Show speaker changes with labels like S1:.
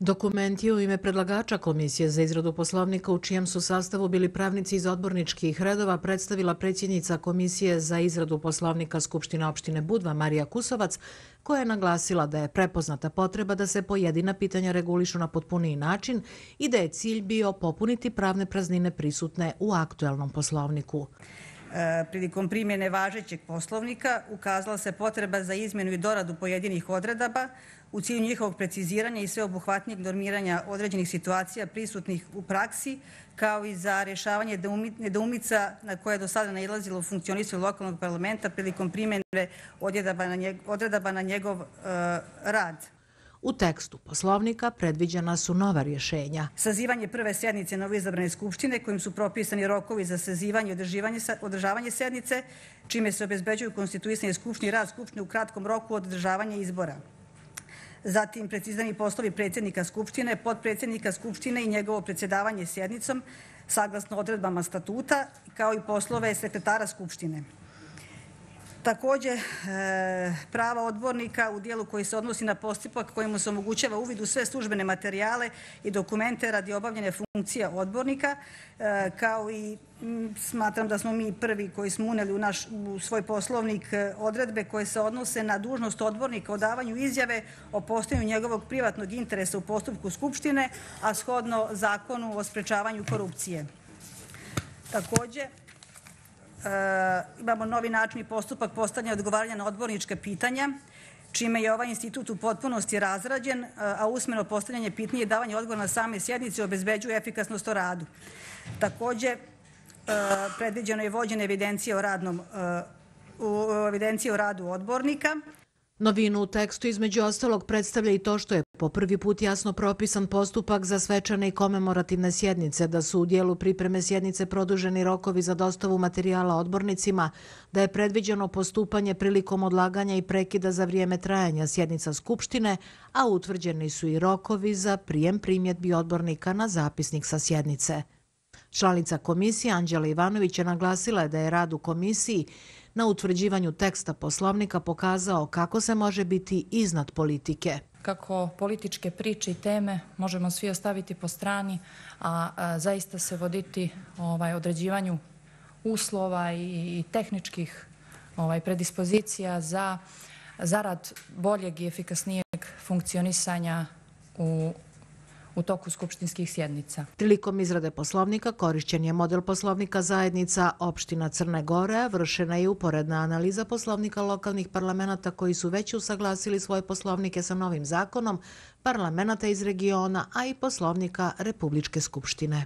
S1: Dokument je u ime predlagača Komisije za izradu poslovnika u čijem su sastavu bili pravnici iz odborničkih redova predstavila predsjednica Komisije za izradu poslovnika Skupštine opštine Budva Marija Kusovac, koja je naglasila da je prepoznata potreba da se pojedina pitanja regulišu na potpuniji način i da je cilj bio popuniti pravne praznine prisutne u aktuelnom poslovniku.
S2: Prilikom primjene važećeg poslovnika ukazala se potreba za izmjenu i doradu pojedinih odredaba u cilju njihovog preciziranja i sveobuhvatnijeg normiranja određenih situacija prisutnih u praksi, kao i za rješavanje nedoumica na koje je do sada nailazilo u funkcionisanju lokalnog parlamenta prilikom primjene odredaba na njegov rad.
S1: U tekstu poslovnika predviđena su nova rješenja.
S2: Sazivanje prve sjednice novoizabrane skupštine kojim su propisani rokovi za sazivanje i održavanje sjednice, čime se obezbeđuju konstituisanje skupštine i rad skupštine u kratkom roku od održavanja izbora. Zatim precizirani poslovi predsjednika skupštine, potpredsjednika skupštine i njegovo predsjedavanje sjednicom saglasno odredbama statuta, kao i poslove sekretara skupštine. Također, prava odbornika u dijelu koji se odnosi na postupak kojemu se omogućava uvid u sve službene materijale i dokumente radi obavljanja funkcija odbornika, kao i smatram da smo mi prvi koji smo unijeli u svoj poslovnik odredbe koje se odnose na dužnost odbornika o davanju izjave o postojanju njegovog privatnog interesa u postupku Skupštine, a shodno Zakonu o sprečavanju korupcije. Također, imamo novi način i postupak postavljanja odgovaranja na odbornička pitanja, čime je ovaj institut u potpunosti razrađen, a usmeno postavljanje pitanja i davanje odgovora na same sjednice obezbeđuje efikasnost o radu. Također, predviđeno je vođenje evidencije o radu odbornika.
S1: Novinu u tekstu između ostalog predstavlja i to što je po prvi put jasno propisan postupak za svečane i komemorativne sjednice, da su u dijelu pripreme sjednice produženi rokovi za dostavu materijala odbornicima, da je predviđeno postupanje prilikom odlaganja i prekida za vrijeme trajanja sjednica Skupštine, a utvrđeni su i rokovi za prijem primjedbi odbornika na zapisnik sa sjednice. Članica komisije Anđela Ivanović je naglasila da je rad u komisiji na utvrđivanju teksta poslovnika pokazao kako se može biti iznad politike.
S3: Kako političke priče i teme možemo svi ostaviti po strani, a zaista se voditi određivanju uslova i tehničkih predispozicija za zarad boljeg i efikasnijeg funkcionisanja u toku skupštinskih sjednica.
S1: Prilikom izrade poslovnika korišćen je model poslovnika zajednica opština Crne Gore, vršena je uporedna analiza poslovnika lokalnih parlamenta koji su već usaglasili svoje poslovnike sa novim zakonom, parlamenta iz regiona, a i poslovnika Republičke skupštine.